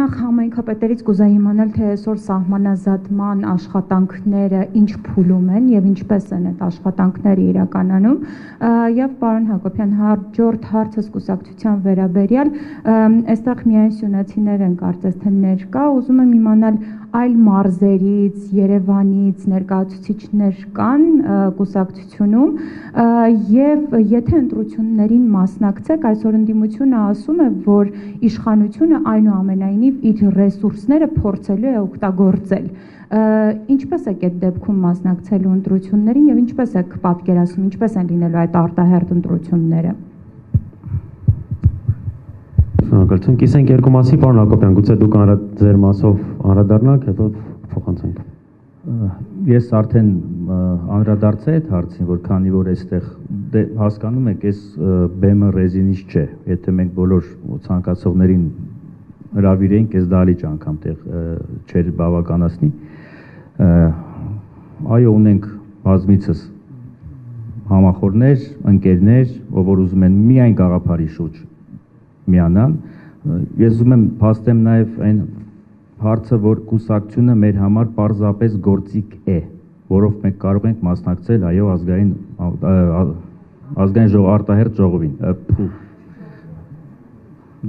նախ համայնքապետերից կուզեի իմանալ, թե այսօր սահմանազատման աշխատանքները ինչ փուլում են եւ ինչպես են այդ աշխատանքները իրականանում, եւ պարոն Հակոբյան, հաջորդ հարցս կուսակցության վերաբերյալ, այստեղ միայն սյունեցիներ են կարծես թե ներկա, ուզում եմ իմանալ այլ մարզերից, Երևանից ներկայացուցիչներ կան կուսակցությունում եւ եթե ընտրություններին մասնակցեք, այսօր ընդդիմությունը ասում է, որ իշխանությունը այնուամենայնիվ իր ռեսուրսները փորձելու է օգտագործել։ Ինչպես եք այդ դեպքում մասնակցելու ընտրություններին եւ ինչպես եք պատկերացնում, ինչպես են լինելու այդ արտահերթ ընտրությունները։ Շնորհակալություն։ Կիսենք երկու մասի, պարոն Հակոբյան, գուցե դուք ձեր մասով անդրադառնաք, հետո փոխանցենք։ Ես արդեն անդրադարձա այդ հարցին, որ քանի որ այստեղ հասկանում եք, այս բեմը ռեզինից չէ, եթե մենք բոլոր ցանկացողներին հրավիրեինք, այս դալիճ անգամ տեղ չէր բավականացնի։ Այո, ունենք բազմիցս համախոհներ, ընկերներ, որ ուզում են միայն գաղափարի շուրջ միանալ, ես ուզում եմ փաստեմ նաև այն հարցը, որ կուսակցությունը մեր համար պարզապես գործիք է, որով մենք կարող ենք մասնակցել այո ազգային արտահերթ ժողովին,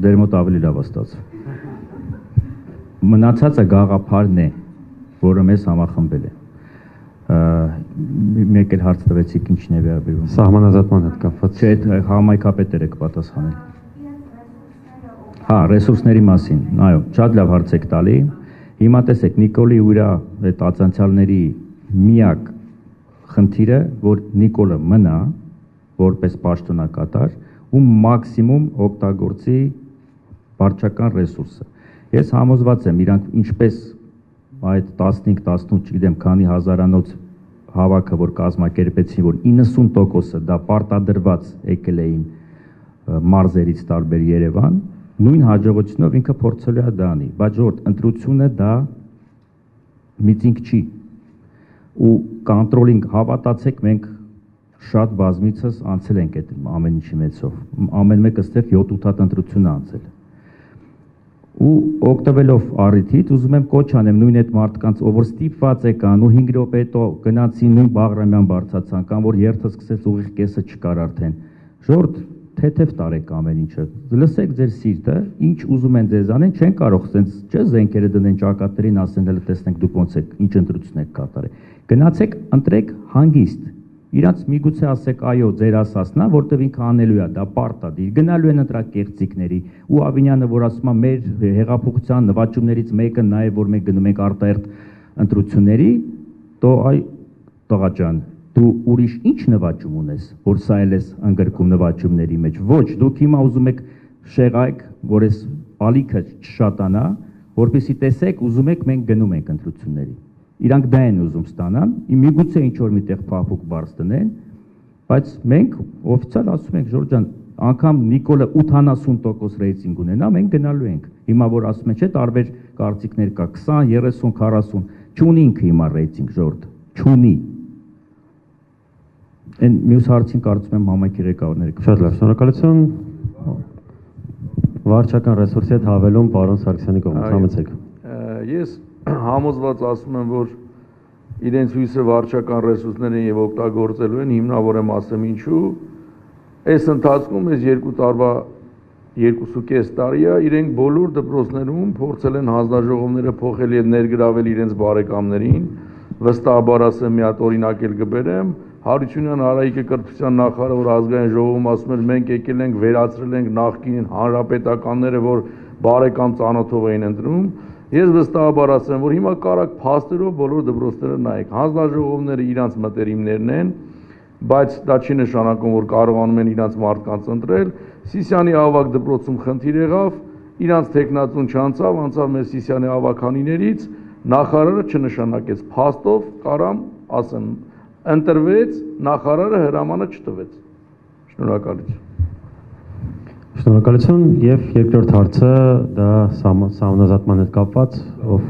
դեր մոտ ավելի լավ ստացվում։ Մնացածը գաղափարն է, որը մեզ համախմբել է։ Մեկ էլ հարց տվեցիք ինչն է վերաբերում։ Սահմանազատման հետ կապված։ Չէ, համայնքապետերը կպատասխանեն։ Հա, ռեսուրսների մասին, այո, շատ լավ հարց եք տալի։ Հիմա տեսեք, Նիկոլի ու իր այդ ածանցյալների միակ խնդիրը, որ Նիկոլը մնա որպես պաշտոնակատար ու մաքսիմում օգտագործի վարչական ռեսուրսը։ Ես համոզված եմ, իրանք ինչպես այդ 15-18, չգիտեմ, քանի հազարանոց հավաքը, որ կազմակերպեցին, որ 90%-ը դա պարտադրված եկել էին մարզերից տարբեր Երևան, նույն հաջողությունով ինքը փորձելու է դա անի, բայց ժողովուրդ, ընտրությունը դա միտինգ չի ու կոնտրոլինգ, հավատացեք, մենք շատ բազմիցս անցել ենք այդ ամեն ինչի մեծով, ամեն մեկը ստեղ 7-8 հատ ընտրություն է անցել ու օգտվելով առիթից ուզում եմ կոչ անեմ նույն այդ մարդկանց, ով որ ստիպված եկան ու 5 րոպե հետո գնացին նույն Բաղրամյան բարձրացան կամ որ երթը սկսեց ուղիղ կեսը չկար արդեն, ժողովուրդ թեթև տարեք ամեն ինչը, լսեք ձեր սիրտը, ինչ ուզում են ձեզ անեն, չեն կարող սենց, չէ զենքերը դնեն ճակատներին, ասեն հələ տեսնենք դուք ոնց եք, ինչ ընտրություն եք կատարել։ Գնացեք, ընտրեք հանգիստ։ Իրանց միգուցե ասեք այո, ձեր ասածն է, որտեղ ինքը անելու է, դա պարտադիր, գնալու են ընտրակ կեղծիկների, ու Ավինյանը, որ ասում է մեր հեղափոխության նվաճումներից մեկը նա է, որ մենք գնում ենք արտահերթ ընտրությունների, դո այ տղա ջան, դու ուրիշ ինչ նվաճում ունես, որ սա էլ ես ընդգրկում նվաճումների մեջ, ոչ, դուք հիմա ուզում եք շեղայք, որ ես ալիքը չշատանա, որպեսզի տեսեք, ուզում եք մենք գնում ենք ընտրությունների, իրանք դա են ուզում ստանան, միգուցե ինչ-որ միտեղ փափուկ բարձ դնեն, բայց մենք օֆիցիալ ասում ենք, Ժորժ ջան, անգամ Նիկոլը 80% ռեյտինգ ունենա, մենք գնալու ենք, հիմա որ ասում են, չէ, տարբեր կարծիքներ կա, 20, 30, 40, չունի ինքը հիմա ռեյտինգ, Ժորժ, չունի։ Այն մյուս հարցին կարծում եմ համայնքի ղեկավարները։ Շատ լավ, շնորհակալություն։ Վարչական ռեսուրսի հետ հավելում պարոն Սարգսյանի կողմից, համեցեք։ Ես համոզված ասում եմ, որ իրենց հույսը վարչական ռեսուրսներ են եւ օգտագործելու են, հիմնավոր եմ ասեմ ինչու։ Այս ընթացքում այս 2 տարվա 2.5 տարի է իրենք բոլոր դպրոցներում փորձել են հանձնաժողովները փոխել եւ ներգրավել իրենց բարեկամներին, վստահաբար ասեմ մի հատ օրինակ էլ կբերեմ, Հարությունյան Արայիկը կրթության նախարարը, որ ազգային ժողովում ասում էր մենք եկել ենք վերացրել ենք նախկին հանրապետականները, որ բարեկամ ծանոթով էին ընտրում, ես վստահաբար ասեմ, որ հիմա կարակ փաստերով բոլոր դպրոցները նայեք, հանձնաժողովները իրանց մտերիմներն են, բայց դա չի նշանակում, որ կարողանում են իրանց մարդկանց ընտրել, Սիսիանի ավագ դպրոցում խնդիր եղավ, իրանց տեխնատուն չանցավ, անցավ մեր Սիսիանի ավագանիներից, նախարարը չնշանակեց, փաստով կարամ ասեմ ընտրվեց, նախարարը հրամանը չտվեց։ Շնորհակալություն։ Շնորհակալություն եւ երկրորդ հարցը դա սահմանազատման հետ կապված, ով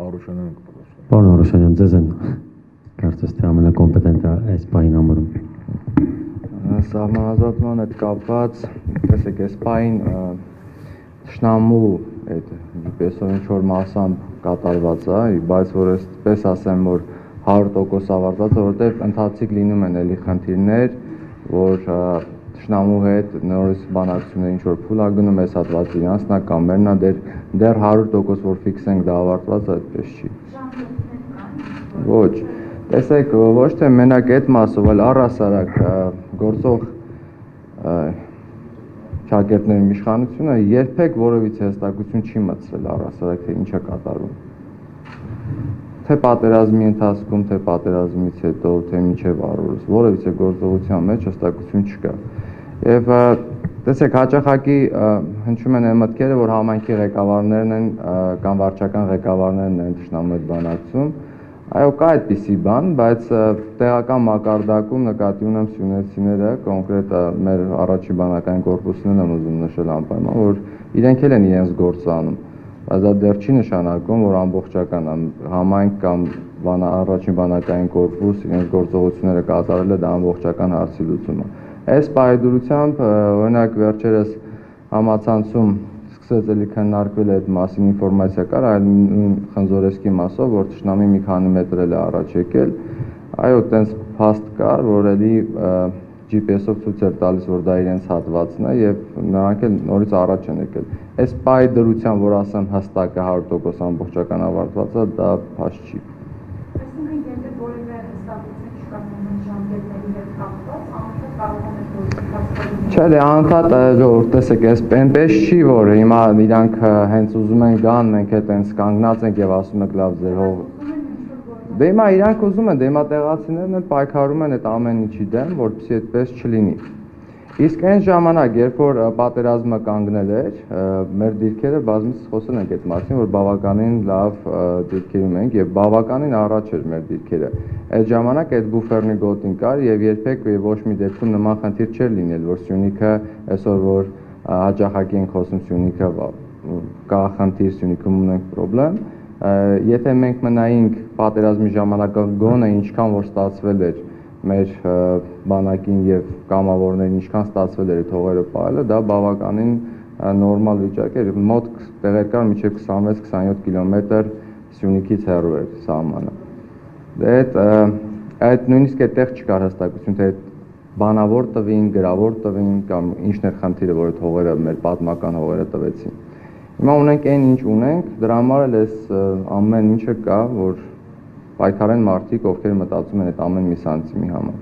Արուշանյանը կպատասխանի։ Պարոն Արուշանյան, ձեզ են կարծես թե ամենակոմպետենտը այս պահին համարում։ Սահմանազատման հետ կապված, տեսեք, այս պահին Թշնամու այդ GPS-ով ինչ որ մասամբ կատարված է, բայց որ այսպես ասեմ, որ 100% ավարտված է, որովհետև ընթացիկ լինում են էլի խնդիրներ, որ թշնամու հետ նորից բանակցություններ ինչ որ փուլ է գնում, այս հատվածը իրանցն է կամ մերն է, դեռ 100% որ ֆիքսենք դա ավարտված է, այդպես չի։ Ոչ, տեսեք, ոչ թե մենակ այդ մասով, այլ առհասարակ գործող շակերտների իշխանությունը երբեք որևիցե հստակություն չի մտցրել առհասարակ թե ինչ է կատարվում։ Թե պատերազմի ընթացքում, թե պատերազմից հետո, թե մինչև առօրս, որևիցե գործողության մեջ հստակություն չկա։ Եվ տեսեք, հաճախակի հնչում են այն մտքերը, որ համայնքի ղեկավարներն են կամ վարչական ղեկավարներն են թշնամու հետ բանակցում։ Այո, կա այդպիսի բան, բայց տեղական մակարդակում նկատի ունեմ սյունեցիները, կոնկրետ մեր առաջի բանակային կորպուսին եմ ուզում նշել անպայման, որ իրենք էլ են իրենց գործը անում, բայց դա դեռ չի նշանակում, որ ամբողջական համայնք կամ առաջին բանակային կորպուս իրենց գործողությունները կատարել է, դա ամբողջական հարցի լուծում է։ Այս պայդրությամբ, օրինակ վերջերս համացանցում սկսեց էլի քննարկվել այդ մասին ինֆորմացիա կար, այլ խնձորեսկի մասով, որ թշնամի մի քանի մետր էլ է առաջ եկել, այո, տենց փաստ կար, որ էլի GPS-ով ցույց էր տալիս, որ դա իրենց հատվածն է եւ նրանք էլ նորից առաջ են եկել։ Այս պայդրությամբ, որ ասեմ հստակ է 100% ամբողջական ավարտված է, դա փաստ չի։ Այսինքն, եթե որևէ հստակություն չկա ժամկետների հետ կապված, անընդհատ կարող է Չէ, անընդհատ ժողովուրդ, տեսեք, այնպես չի, որ հիմա իրանք հենց ուզում են գան, մենք հետ հենց կանգնած ենք եւ ասում եք լավ ձեր հող։ Դե հիմա իրանք ուզում են, դե հիմա տեղացիներն էլ պայքարում են այդ ամեն ինչի դեմ, որպեսզի այդպես չլինի։ Իսկ այն ժամանակ, երբ որ պատերազմը կանգնել էր, մեր դիրքերը բազմիցս խոսել ենք այդ մասին, որ բավականին լավ դիրքերում ենք եւ բավականին առաջ էր մեր դիրքերը։ Այդ ժամանակ այդ բուֆերնի գոտին կար եւ երբեք ոչ մի դեպքում նման խնդիր չէր լինել, որ Սյունիքը այսօր որ հաճախակի ենք խոսում Սյունիքը կա խնդիր, Սյունիքում ունենք խնդրեմ, եթե մենք մնայինք պատերազմի ժամանակ գոնե ինչքան որ ստացվել էր մեր բանակին եւ կամավորներին ինչքան ստացվել էր թողերը պահելը, դա բավականին նորմալ վիճակ էր, մոտ տեղեր կար մինչեւ 26-27 կիլոմետր Սյունիքից հեռու էր սահմանը։ Դե այդ նույնիսկ այդտեղ չկար հստակություն, թե բանավոր տվին, գրավոր տվին կամ ինչն էր խնդիրը, որ այդ հողերը մեր պատմական հողերը տվեցին։ Հիմա ունենք այն ինչ ունենք, դրա համար էլ այս ամեն ինչը կա, որ պայքարեն մարդիկ, ովքեր մտածում են այդ ամեն մի սանտիմի համար։